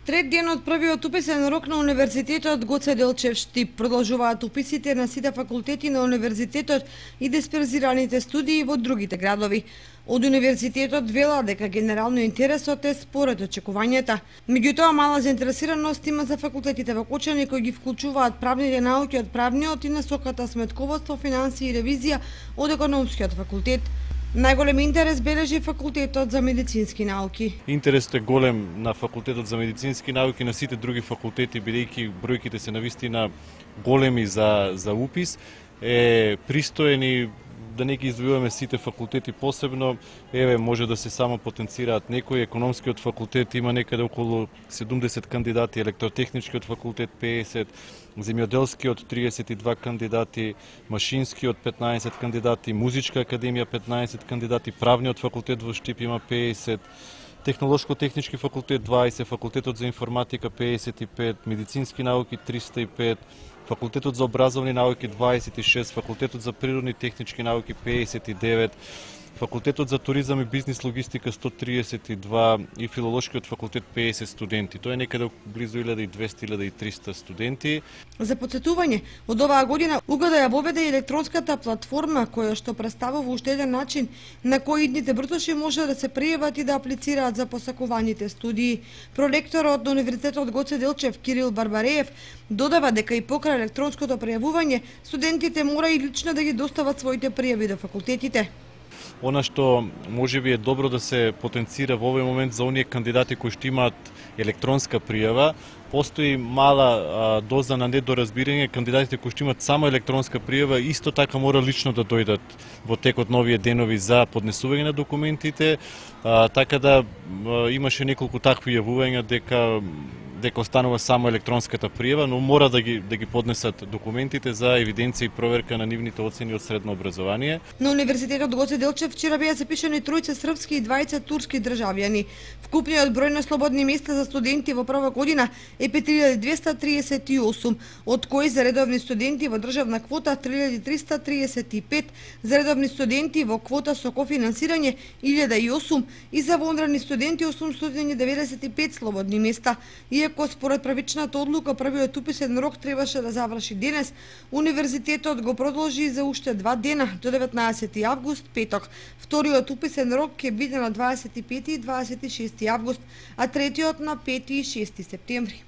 Трет ден од првиот уписен рок на Универзитетот Гоце Делчев Штип продолжуваат уписите на сите факултети на универзитетот и дисперзираните студии во другите градови. Од универзитетот велат дека генерално интересот е според очекувањата. Меѓутоа мала заинтересираност има за факултетите во Кочани кои ги вклучуваат правните науки од правниот и насоката сметководство, финансии и ревизија од економскиот факултет. Најголем интерес бележи факултетот за медицински науки. Интересот е голем на факултетот за медицински науки, на сите други факултети, бидејќи бројките се навистина големи за упис, е пристоен и да не ги издвојуваме сите факултети посебно, може да се само потенцираат некои. Економскиот факултет има некаде околу 70 кандидати, електротехничкиот факултет 50, земјоделскиот 32 кандидати, машинскиот 15 кандидати, музичка академија 15 кандидати, правниот факултет во Штип има 50, технолошко-технички факултет 20, факултетот за информатика 55, медицински науки 305, факултетот за образовни науки 26, факултетот за природни технички науки 59, факултетот за туризам и бизнис логистика 132 и филолошкиот факултет 50 студенти. Тоа е некаде близу 1200-1300 студенти. За потсетување, од оваа година УГД ја воведе електронската платформа која што представува уште еден начин на кој идните бртоши може да се пријават и да аплицираат за посакуваните студии. Проректорот на Универзитетот Гоце Делчев Кирил Барбареев додава дека и покрај електронското пријавување студентите мора и лично да ги достават своите пријави до факултетите. Она што можеби е добро да се потенцира во овој момент за оние кандидати кои што имаат електронска пријава, постои мала доза на недоразбирање. Кандидатите кои што имаат само електронска пријава исто така мора лично да дојдат во текот на овие денови за поднесување на документите, така да имаше неколку такви јавувања дека останува само електронската пријава, но мора да ги поднесат документите за евиденција и проверка на нивните оцени од средно образование. На Универзитетот Гоце Делчев вчера беа запишани 3 српски и 20 турски државјани. Вкупниот број на слободни места за студенти во прва година е 5238, од кои за редовни студенти во државна квота 3335, за редовни студенти во квота со кофинансирање 1008 и за вонредни студенти 895 слободни места. Иако според правичната одлука првиот уписен рок требаше да заврши денес, универзитетот го продолжи за уште 2 дена до 19 август, петок. Вториот уписен рок ќе биде на 25 и 26 август, а третиот на 5 и 6 септември.